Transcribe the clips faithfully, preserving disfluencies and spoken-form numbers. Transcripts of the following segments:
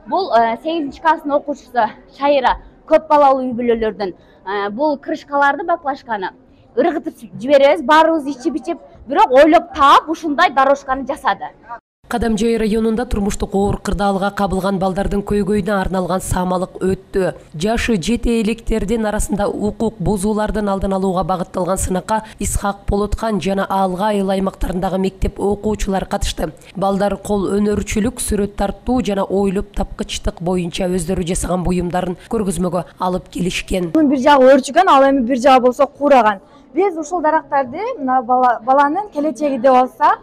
Бул сегизинчи класстын окуучусу Шайра көп балалуу үй бүлөлөрдөн бул крышкаларды баклашканы ыргытып жиберебиз, баарыбыз ичип ичип, бирок ойлоп таап ушундай дорожканы жасады. Кадамжай районунда турмуштук оор кырдаалга кабылган балдардын көйгөйүнө арналган самалык өттү. Жашы жете электердин арасында укук бузуулардын алдын алууга багытталган сынакка Исхак Болоткан жана Алга айыл аймактарындагы мектеп окуучулары катышты. Балдар кол өнөрчүлүк, сүрөт тартуу жана ойлоп тапкычтык боюнча өздөрү жасаган буюмдарын көргөзмөгө алып келишкен. Бир жагы өрчүгөн, ал эми бир жагы болсо куураган. Биз ушул дарактарды мына баланын келечеги деп алсак,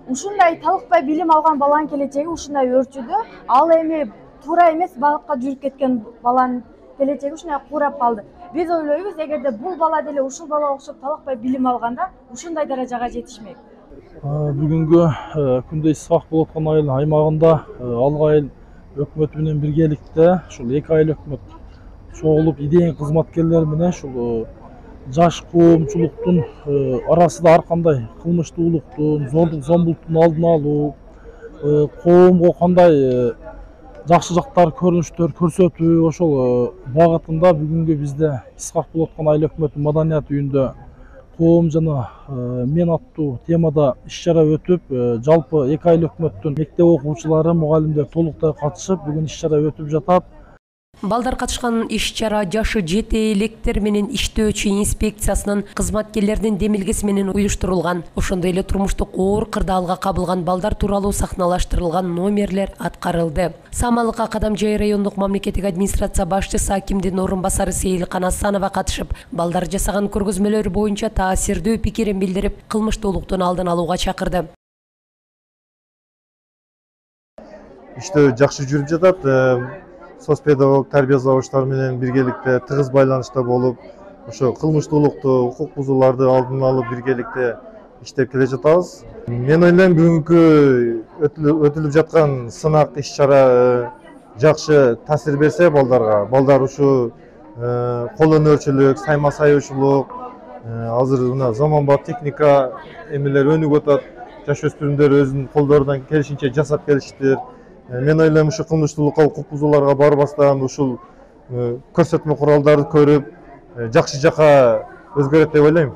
ушундай талыкпай билим алган баланын келечеги ушундай өрчүдө, ал эми туура эмес багытка жүрүп кеткен баланын келечеги ушундай куурап калды. Биз ойлойбуз, эгерде бул бала деле ушул балага окшоп талыкпай билим алганда, ушундай даражага жетишмек. Бүгүнкү күндө Исхак Болоткан айыл аймагында Алга айыл өкмөтү менен биргеликте ушул эки айыл өкмөт чогулуп идея кызматкерлери менен ушул жаш коомчулуктун арасында ар кандай кылмыштуулуктун, зордук зомбулуктун алдын алуу, коомго кандай жакшы жактар, көрүнүштөр көрсөтүү, ошол багытында бүгүнкү бизде Исхак Болоткан айыл өкмөтү маданият үйүндө коом жана мен аттуу темада иш-чара өтүп, жалпы эки айыл өкмөттүн мектеп окуучулары, мугалимдер толуктай катышып, бүгүн иш-чара өтүп жатат. Балдар катышкан иш-чара жашы жете электер менен иштөөчү инспекциясынын кызматкерлеринин демилгеси менен уюштурулган. Ошондой эле турмуштук оор кырдаалга кабылган балдар тууралуу сахналаштырылган номерлер аткарылды. Самалыкка Кадамжай райондук мамлекеттик администрация башчысы акимдин орун басары Сейилкан Асанова катышып, балдар жасаган көргөзмөлөр боюнча таасирдүү пикирин билдирип, кылмыштуулуктун алдын алууга чакырды. Иштөө жакшы жүрүп жатат. Соцпедагог тарбия завуштары менен биргеликте тыгыз байланышта болуп, ошо кылмыштуулукту, укук бузууларды алдын алып биргеликте иштеп келе жатабыз. Мен ойлойм, бүгүнкү өтүлүп жаткан сынак иш-чара жакшы таасир берсе балдарга, балдар ушу кол өнөрчүлүк, сайма саюучулук, азыр мына заманбап техника эмелер өнүгүп атат. Жаш өспүрүмдөр өзүнүн колдорунан келишинче жасап келиштир. Мен ойлойм, ушу кылмыштуулукка, укук бузууларга барбастан ушул көрсөтмө куралдарды көрүп, жакшы жака өзгөрөт деп ойлойм.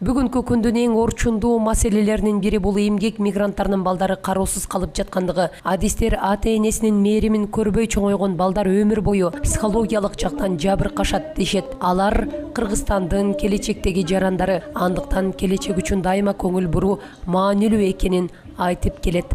Бүгүнкү күндүн эң орчундуу маселелеринин бири бул эмгек мигранттарынын балдары кароосуз калып жаткандыгы. Адистер ата-энесинин мээримин көрбөй чоңойгон балдар өмүр бою психологиялык жактан жабыркашат дешет. Алар Кыргызстандын келечектеги жарандары, андыктан келечек үчүн дайыма көңүл буруу маанилүү экенин айтып келет.